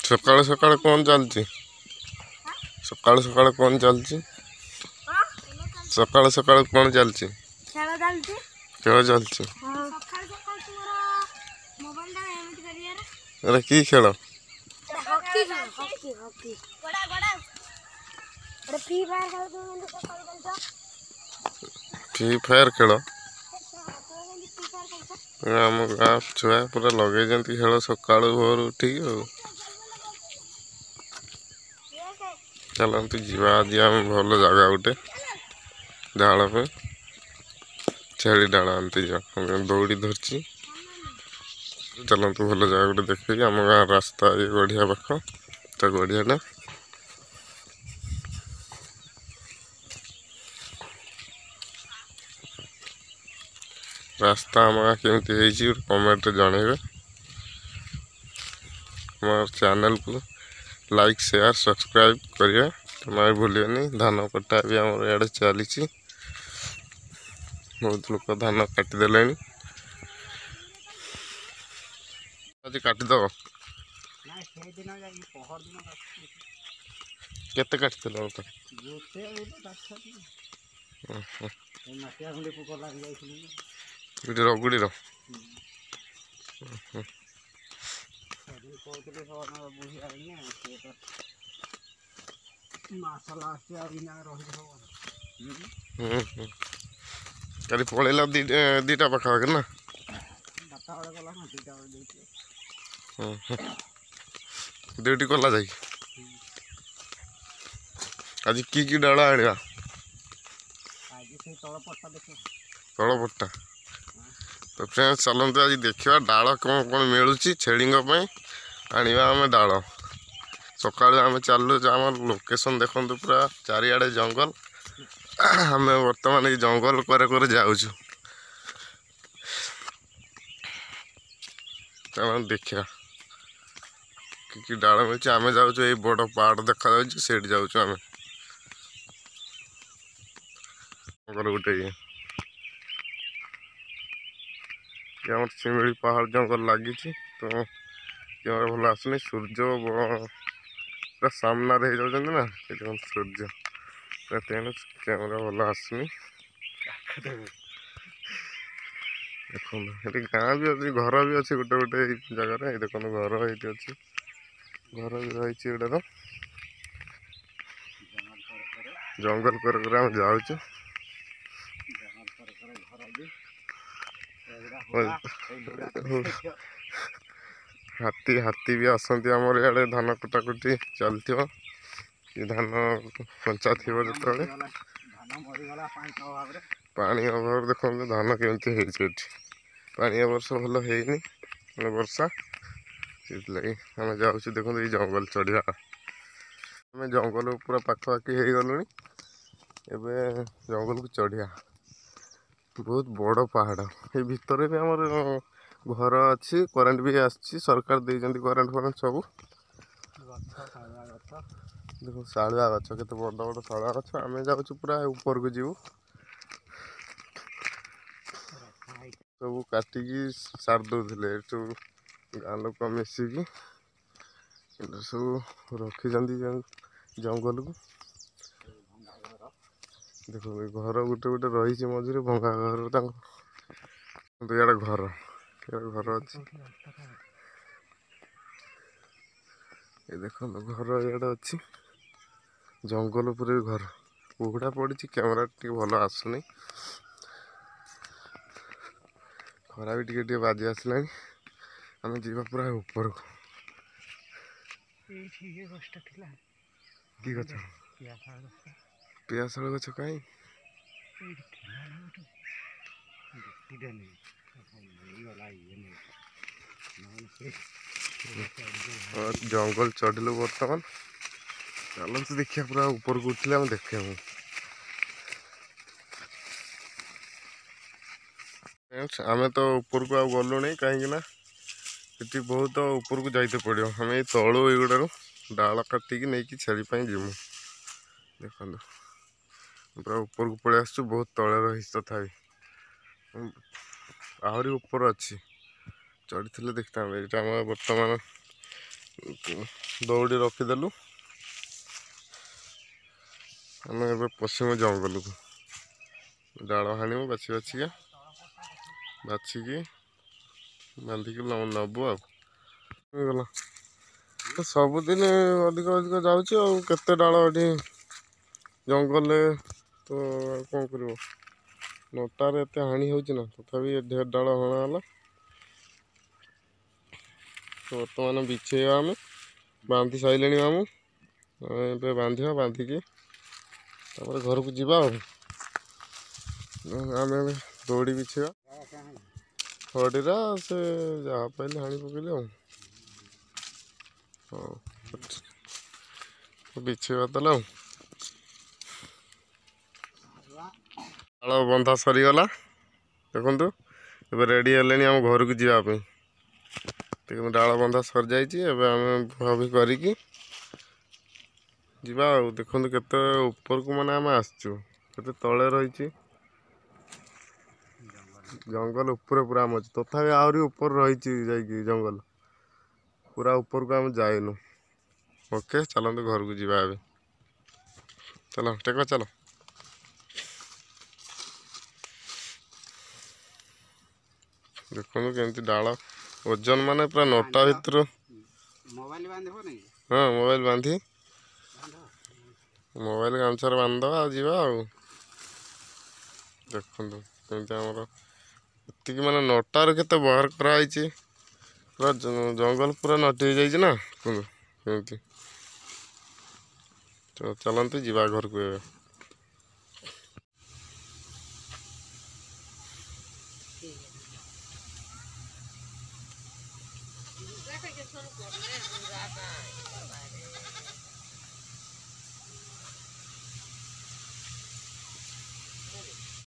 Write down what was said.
ସକାଳୁ ସକାଳୁ କ'ଣ ଚାଲିଛି? ସକାଳୁ ସକାଳୁ କ'ଣ ଚାଲିଛି? ସକାଳୁ ସକାଳୁ କ'ଣ ଚାଲିଛି? ଖେଳ ଚାଲିଛି। ଏଟା କି ଖେଳ? ଫ୍ରି ଫାୟାର ଖେଳ। ଆମ ଗାଁ ଛୁଆ ପୁରା ଲଗେଇଛନ୍ତି ଖେଳ ସକାଳୁ ଭୋରୁ ଉଠିକି। ଆଉ ଚାଲନ୍ତୁ ଯିବା ଆଜି ଆମେ ଭଲ ଜାଗା ଗୋଟେ ଡାଳ ପାଇଁ, ଛେଳି ଡାଳ ଆଣିତେ ଯିବା। ଦୌଡ଼ି ଧରିଛି। ଚାଲନ୍ତୁ ଭଲ ଜାଗା ଗୋଟେ ଦେଖିକି। ଆମ ଗାଁ ରାସ୍ତା ଏଇ ଗଢ଼ିଆ ପାଖ, ତା ଗଢ଼ିଆଟା। ରାସ୍ତା ଆମ ଗାଁ କେମିତି ହେଇଛି ଗୋଟେ କମେଣ୍ଟରେ ଜଣେଇବେ। ଆମ ଚ୍ୟାନେଲକୁ ଲାଇକ୍, ସେୟାର, ସବସ୍କ୍ରାଇବ୍ କରିବା ଜମା ବି ଭୁଲିବେନି। ଧାନ କଟା ବି ଆମର ଇଆଡ଼େ ଚାଲିଛି, ବହୁତ ଲୋକ ଧାନ କାଟିଦେଲେଣି। ଆଜି କାଟିଦେବ? କେତେ କାଟିଥିଲ? ଏଠି ରଗୁଡ଼ିର କାଲି ପଳେଇଲା 2ଟା ପାଖାପାଖି ନା? ଡ୍ୟୁଟି କଲା ଯାଇକି। ଆଜି କି କି ଡାଳ ଆଣିବା? ତଳ ପଟ୍ଟା। ତ ଫ୍ରେଣ୍ଡ, ଚାଲନ୍ତୁ ଆଜି ଦେଖିବା ଡାଳ କ'ଣ କ'ଣ ମିଳୁଛି ଛେଳିଙ୍କ ପାଇଁ ଆଣିବା ଆମେ ଡାଳ। ସକାଳୁ ଆମେ ଚାଲୁ। ଆମ ଲୋକେସନ୍ ଦେଖନ୍ତୁ, ପୁରା ଚାରିଆଡ଼େ ଜଙ୍ଗଲ। ଆମେ ବର୍ତ୍ତମାନ ଏଇ ଜଙ୍ଗଲ କରେ କରେ ଯାଉଛୁ। ଚାଲନ୍ତୁ ଦେଖିବା କି କି ଡାଳ ମିଳୁଛି। ଆମେ ଯାଉଛୁ, ଏଇ ବଡ଼ ପାହାଡ଼ ଦେଖାଯାଉଛି, ସେଇଠି ଯାଉଛୁ ଆମେ। ଜଙ୍ଗଲ ଗୋଟେ ଇଏ ଆମର ଶିମିଳି ପାହାଡ଼ ଜଙ୍ଗଲ ଲାଗିଛି, ତ କ୍ୟାମେରା ଭଲ ଆସୁନି। ସୂର୍ଯ୍ୟ ପୁରା ସାମ୍ନାରେ ହେଇଯାଉଛନ୍ତି ନା, ଏଠି ସୂର୍ଯ୍ୟ ପୁରା, ତେଣୁ କ୍ୟାମେରା ଭଲ ଆସୁନି। ଦେଖନ୍ତୁ, ଏଠି ଗାଁ ବି ଅଛି, ଘର ବି ଅଛି ଗୋଟେ ଗୋଟେ ଏଇ ଜାଗାରେ। ଏଇ ଦେଖନ୍ତୁ, ଘର ଏଇଠି ଅଛି, ଘର ବି ରହିଛି ଏଇଟାର। ଜଙ୍ଗଲ କରେ କରେ ଆମେ ଯାଉଛୁ। ହାତୀ ହାତୀ ବି ଆସନ୍ତି ଆମର ଇଆଡ଼େ। ଧାନ କଟାକଟି ଚାଲିଥିବ କି ଧାନ କଞ୍ଚା ଥିବ ଯେତେବେଳେ, ପାଣି ଅଭାବ। ଦେଖନ୍ତୁ ଧାନ କେମିତି ହେଇଛି ଏଠି। ପାଣି ଏ ବର୍ଷ ଭଲ ହେଇନି, ମାନେ ବର୍ଷା, ସେଥିଲାଗି ଆମେ ଯାଉଛୁ। ଦେଖନ୍ତୁ, ଏଇ ଜଙ୍ଗଲ ଚଢ଼ିବା। ଆମେ ଜଙ୍ଗଲ ପୁରା ପାଖାପାଖି ହେଇଗଲୁଣି, ଏବେ ଜଙ୍ଗଲକୁ ଚଢ଼ିବା। ବହୁତ ବଡ଼ ପାହାଡ଼। ଏଇ ଭିତରେ ବି ଆମର ଘର ଅଛି, କରେଣ୍ଟ ବି ଆସିଛି, ସରକାର ଦେଇଛନ୍ତି କରେଣ୍ଟ ଫରେଣ୍ଟ ସବୁ। ଦେଖ ଶାଳୁଆ ଗଛ, କେତେ ବଡ଼ ବଡ଼ ଶାଳୁଆ ଗଛ। ଆମେ ଯାଉଛୁ ପୁରା ଉପରକୁ ଯିବୁ। ସବୁ କାଟିକି ସାରି ଦେଉଥିଲେ ସବୁ ଗାଁ ଲୋକ ମିଶିକି, ସବୁ ରଖିଛନ୍ତି ଜଙ୍ଗଲକୁ। ଦେଖନ୍ତୁ, ଘର ଗୋଟେ ଗୋଟେ ରହିଛି ମଝିରେ, ଭଙ୍ଗା ଘର ତାଙ୍କ। ଇଆଡ଼େ ଘର, ଇଆଡ଼େ ଘର ଅଛି। ଏ ଦେଖନ୍ତୁ, ଘର ଇଆଡ଼େ ଅଛି, ଜଙ୍ଗଲ ଉପରେ ବି ଘର। କୁହୁଡ଼ା ପଡ଼ିଛି, କ୍ୟାମେରା ଟିକେ ଭଲ ଆସୁନି। ଖରା ବି ଟିକେ ଟିକେ ବାଜି ଆସିଲାଣି। ଆମେ ଯିବା ପୁରା ଉପରକୁ। କି ଗଛ? ପିଆଶାଳ ଗଛ କାହିଁ? ଜଙ୍ଗଲ ଚଢ଼ିଲୁ ବର୍ତ୍ତମାନ। ଚାଲନ୍ତୁ ଦେଖିବା, ପୁରା ଉପରକୁ ଉଠିଲେ ଆମେ ଦେଖିବାକୁ। ଆମେ ତ ଉପରକୁ ଆଉ ଗଲୁନି, କାହିଁକି ନା ସେଠି ବହୁତ ଉପରକୁ ଯାଇତେ ପଡ଼ିବ। ଆମେ ଏଇ ତଳୁ ଏଇଗୁଡ଼ାରୁ ଡାଳ କାଟିକି ନେଇକି ଛେଳି ପାଇଁ ଯିବୁ। ଦେଖନ୍ତୁ, ପୁରା ଉପରକୁ ପଳେଇ ଆସିଛୁ, ବହୁତ ତଳେ ରହିଛି, ତଥାପି ଆହୁରି ଉପର ଅଛି, ଚଢ଼ିଥିଲେ ଦେଖିଥାନ୍ତେ। ଏଇଟା ଆମର ବର୍ତ୍ତମାନ ଦଉଡ଼ି ରଖିଦେଲୁ। ଆମେ ଏବେ ପଶ୍ଚିମ ଜଙ୍ଗଲକୁ ଡାଳ ହାଣିବୁ, ବାଛି ବାଛିକା ବାଛିକି ବାନ୍ଧିକି ନେବୁ। ଆଉ ହେଇଗଲା ସବୁଦିନ ଅଧିକ ଅଧିକ ଯାଉଛି। ଆଉ କେତେ ଡାଳ ଏଠି ଜଙ୍ଗଲରେ ତ ଆଉ କ'ଣ କରିବ? ନଟାରେ ଏତେ ହାଣି ହେଉଛି ନା, ତଥାପି ଢେର ଡାଳ ହଣା ହେଲା। ତ ବର୍ତ୍ତମାନ ବିଛେଇବା। ଆମେ ବାନ୍ଧି ସାରିଲେଣି ମାମୁଁ, ଆମେ ଏବେ ବାନ୍ଧିବା, ବାନ୍ଧିକି ତାପରେ ଘରକୁ ଯିବା। ଆଉ ଆମେ ଏବେ ଦଉଡ଼ି ବିଛେଇବା ହଡ଼ିରା, ସେ ଯାହା ପାଇଲେ ହାଣି ପକେଇଲେ। ଆଉ ହଉ, ବିଛେଇବା ତାହେଲେ। ଆଉ ଡାଳ ବନ୍ଧା ସରିଗଲା, ଦେଖନ୍ତୁ। ଏବେ ରେଡ଼ି ହେଲେଣି ଆମ ଘରକୁ ଯିବା ପାଇଁ। ଦେଖନ୍ତୁ, ଡାଳ ବନ୍ଧା ସରିଯାଇଛି। ଏବେ ଆମେ ଭାବି କରିକି ଯିବା। ଆଉ ଦେଖନ୍ତୁ କେତେ ଉପରକୁ ମାନେ ଆମେ ଆସିଛୁ, କେତେ ତଳେ ରହିଛି ଜଙ୍ଗଲ ଉପରେ ପୁରା ଆମେ ଅଛି। ତଥାପି ଆହୁରି ଉପରେ ରହିଛି ଯାଇକି ଜଙ୍ଗଲ, ପୁରା ଉପରକୁ ଆମେ ଯାଇନୁ। ଓକେ, ଚାଲନ୍ତୁ ଘରକୁ ଯିବା ଏବେ। ଚାଲ ଟେକ, ଚାଲ। ଦେଖନ୍ତୁ କେମିତି ଡାଳ ଓଜନ, ମାନେ ପୁରା ନଟା ଭିତରୁ। ହଁ, ମୋବାଇଲ ବାନ୍ଧି, ମୋବାଇଲ ଗାମୁଛାରେ ବାନ୍ଧିଦେବା ଆଉ ଯିବା। ଆଉ ଦେଖନ୍ତୁ କେମିତି ଆମର ଏତିକି ମାନେ ନଟାରୁ କେତେ ବାହାର କରାହେଇଛି। ପୁରା ଜଙ୍ଗଲ ପୁରା ନଟି ହେଇଯାଇଛି ନା, ଦେଖନ୍ତୁ କେମିତି। ତ ଚାଲନ୍ତୁ ଯିବା ଘରକୁ ଏବେ।